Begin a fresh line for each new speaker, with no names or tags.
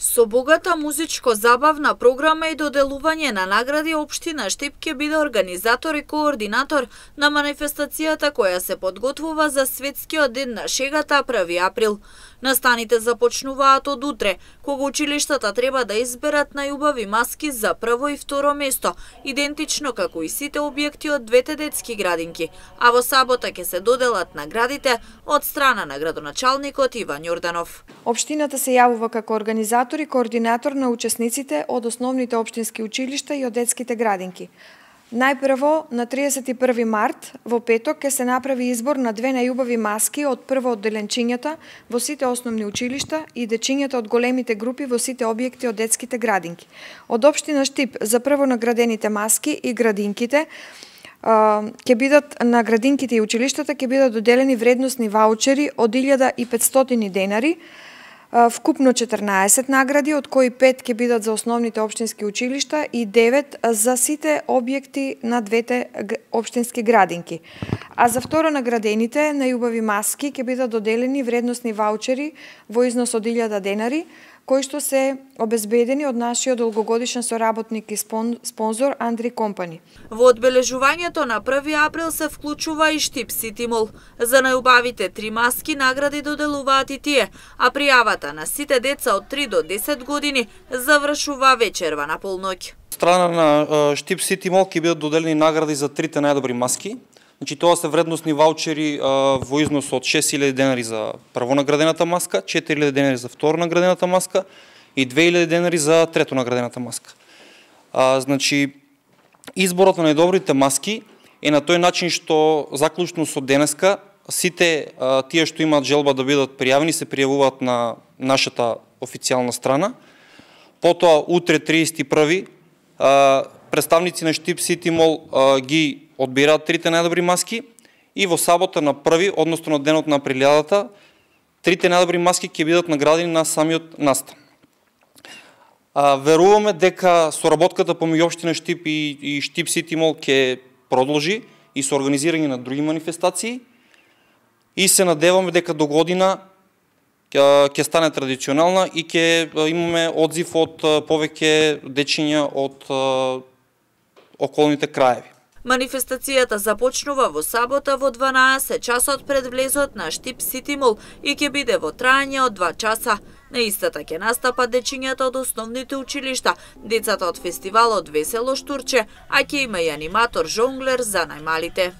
Со богата музичко-забавна програма и доделување на награди, општина Штип ќе биде организатор и координатор на манифестацијата која се подготвува за Светскиот ден на шегата 1 април. Настаните започнуваат од утре, кога училиштата треба да изберат најубави маски за прво и второ место, идентично како и сите објекти од двете детски градинки, а во сабота ќе се доделат наградите од страна на градоначалникот Иван Јорданов.
Општината се јавува како организатор и координатор на учесниците од основните општински училишта и од детските градинки. Најпрво, на 31 март, во петок, ќе се направи избор на две најубави маски од прво одделенчињата во сите основни училишта и дечињата од големите групи во сите објекти од детските градинки. Од општина Штип за прво наградените маски и градинките ќе бидат на градинките и училиштата ќе бидат доделени вредносни ваучери од 1500 денари, вкупно 14 награди, од кои 5 ќе бидат за основните општински училишта и 9 за сите објекти на двете општински градинки. А за второ наградените најубави маски ќе бидат доделени вредносни ваучери во износ од 1000 денари, кои што се обезбедени од нашиот долгогодишен соработник и спонзор Андри Компани.
Во одбележувањето на 1 април се вклучува и Штип Сити Мол. За најубавите 3 маски награди доделуваат и тие, а пријавата на сите деца од 3 до 10 години завршува вечерва на полноќ.
Страна на Штип Сити Мол ќе бидат доделени награди за 3 најдобри маски. Значи, тоа се вредносни ваучери во износ од 6000 денари за прво наградената маска, 4000 денари за второ наградената маска и 2000 денари за трето наградената маска. Значи, изборот на најдобрите маски е на тој начин што заклучно со денеска сите тие што имаат желба да бидат пријавени се пријавуваат на нашата официјална страна. Потоа утре 31 представници на Штип Сити Мол ги одбираат 3 најдобри маски и во сабота на 1, односно на денот на априлјадата, 3 најдобри маски ќе бидат наградени на самиот настан. Веруваме дека соработката помеѓу општина Штип и Штип Сити Мол ќе продолжи и со организирање на други манифестации и се надеваме дека до година ќе стане традиционална и ќе имаме одзив од повеќе дечиња од околните краеви.
Манифестацијата започнува во сабота во 12 часот пред влезот на Штип Сити Мол и ќе биде во трајање од 2 часа. На истата ќе настапат дечињата од основните училишта, децата од фестивалот Весело Штурче, а ќе има и аниматор жонглер за најмалите.